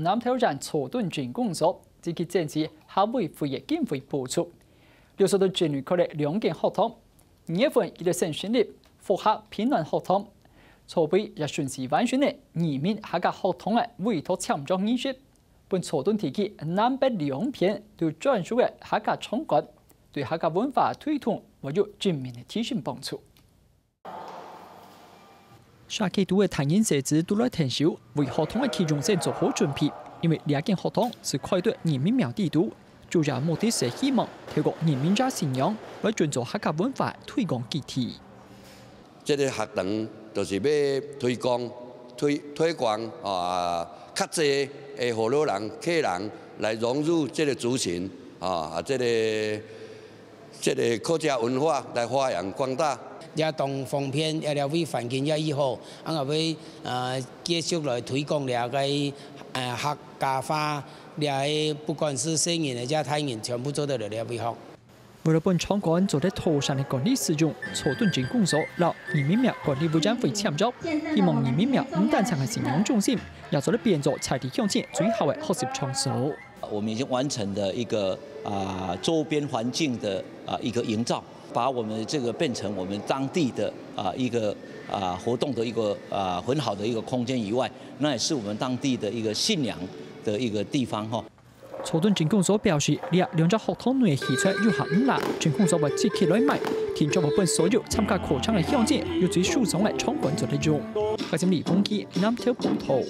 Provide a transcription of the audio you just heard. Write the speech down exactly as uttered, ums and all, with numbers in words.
南投縣草屯鎮公所積極爭取客委會个經費補助，六十多子女開了兩間學堂。二月份佢等先成立復合平安學堂，籌備也順序完成了移民客家學堂个委託簽約儀式，分草屯地區南北兩片都專屬个客家場館，對客家文化推動會有正面个提升幫助。 社區肚个大人細子都來𢯭手，為學堂个啟用先做好準備。因為這間學堂係開在義民廟底肚，主要目的係希望透過義民爺信仰來建造客家文化推廣基地。這个學堂就是要推廣、推、推廣啊，較濟个河洛人、客人來融入這个族群啊，這个 這个客家文化來發揚光大。也當方便，也了為環境也已好，啊，也會，呃，繼續來推廣這个，呃，客家話，這个不管係細人个也大人，全部做得來這位學。為了分場館做得妥善个管理使用，草屯鎮公所摎義民廟管理委員會簽約，希望義民廟毋單淨係信仰中心，也做得變做在地鄉親最好个學習場所。 我們已經完成了一個，啊，周邊環境的，啊，一個營造，把我們這個變成我們當地的，啊，一個，啊，活動的一個，啊，很好的一個空間以外，那也是我們當地的一個信仰的一個地方，吼。草屯鎮公所表示，這兩隻學堂內个器材有限毋罅，鎮公所會積極來買，定著會分所有參加課程个鄉親有最舒爽个場館做得用。記者李峰基南投報導。